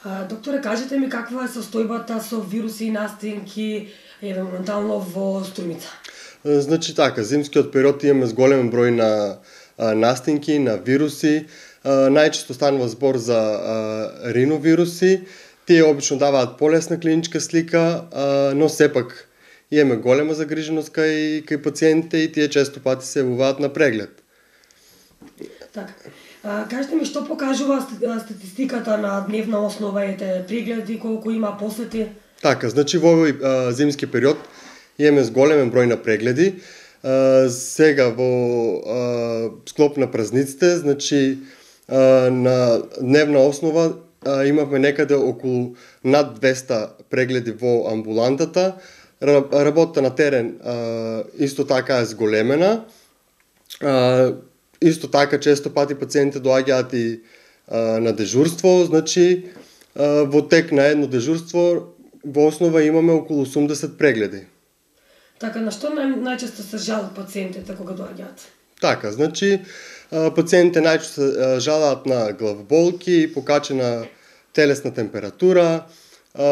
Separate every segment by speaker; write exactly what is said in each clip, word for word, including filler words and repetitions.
Speaker 1: А, докторе, кажете ми каква е состојбата со вируси и настинки евентуално во Струмица?
Speaker 2: Значи така, зимскиот период имаме зголем број на а, настинки, на вируси. А, најчесто станува збор за а, риновируси. Тие обично даваат полесна клиничка слика, а, но сепак имаме голема загриженост кај, кај пациентите и тие често пати се јавуваат на преглед.
Speaker 1: Така. А, кажете ми што покажува статистиката на дневна основа ете прегледи, колку има посети?
Speaker 2: Така, значи во овој а, зимски период имаме зголемен број на прегледи. А, сега во а, склоп на празниците, значи а, на дневна основа а, имавме некаде околу над двеста прегледи во амбулантата. Работата на терен а, исто така е зголемена. А, исто така често пати пациентите доаѓаат и а, на дежурство, значи а, во тек на едно дежурство во основа имаме околу осумдесет прегледи.
Speaker 1: Така, на што нај, најчесто се жалат пациентите кога доаѓаат?
Speaker 2: Така, значи а, пациентите најчесто се жалаат на главоболки, покачена телесна температура, а,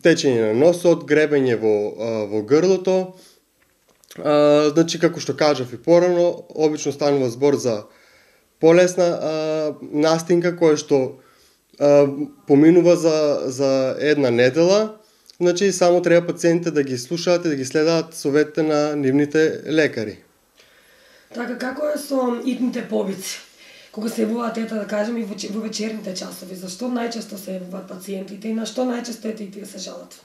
Speaker 2: течење на носот, гребење во, а, во грлото. А, значи, како што кажав и порано, обично станува збор за полесна а, настинка која што а, поминува за, за една недела. Значи, само треба пациентите да ги слушаат и да ги следаат советите на нивните лекари.
Speaker 1: Така, како е со итните повици? Кога се јавуваат ета, да кажем, и во, во вечерните часови, зашто најчесто се јавуваат пациентите и на што најчесто ете и тие се жалат?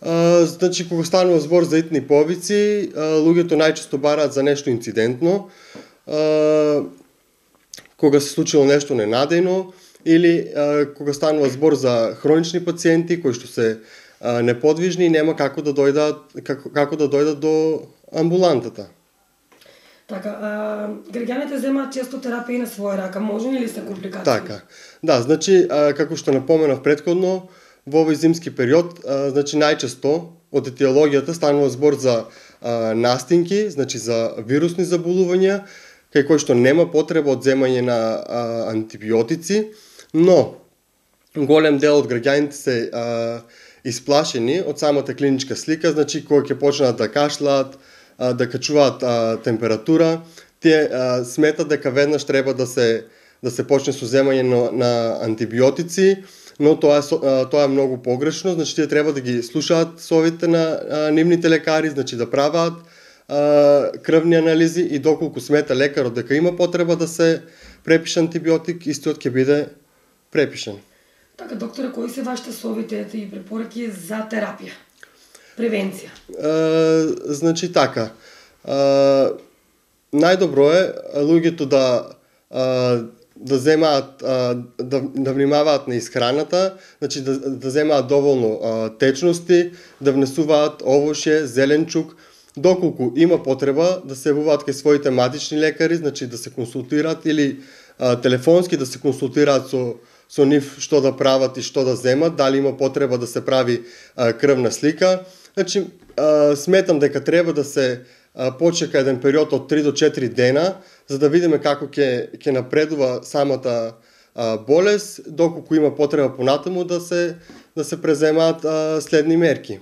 Speaker 2: А, значи, кога станува збор за итни повици, а, луѓето најчесто бараат за нешто инцидентно, а, кога се случило нешто ненадејно, или а, кога станува збор за хронични пациенти кои што се а, неподвижни и нема како да дојдат како, како да дојдат до амбулантата.
Speaker 1: Така, а, граѓаните земаат често терапија на своја рака, можни ли се компликации?
Speaker 2: Така. Да, значи а, како што напоменав претходно, во овој зимски период, а, значи најчесто од етиологијата станува збор за а, настинки, значи за вирусни заболувања, кај кои што нема потреба од земање на а, антибиотици, но голем дел од граѓаните се а, исплашени од самата клиничка слика, значи кога ќе почнат да кашлаат, а, да качуваат а, температура, тие а, сметат дека веднаш треба да се да се почне со земање на, на антибиотици, но тоа е, тоа е многу погрешно, значи тие треба да ги слушаат советите на а, нивните лекари, значи да прават а, крвни анализи и доколку смета лекарот дека има потреба да се препише антибиотик, истиот ќе биде препишен.
Speaker 1: Така, докторе, кои се вашите совети и препораки за терапија? Превенција?
Speaker 2: А, значи така, а, најдобро е луѓето да а, да земаат, да, да внимаваат на исхраната, значи да, да земаат доволно а, течности, да внесуваат овошје, зеленчук, доколку има потреба да се јавуваат кај своите матични лекари, значи да се консултираат или а, телефонски да се консултираат со, со нив што да прават и што да земат, дали има потреба да се прави а, крвна слика. Значи, а, сметам дека треба да се почека еден период од три до четири дена, за да видиме како ќе ќе напредува самата а, болест, доколку има потреба понатаму да се да се преземаат а, следни мерки.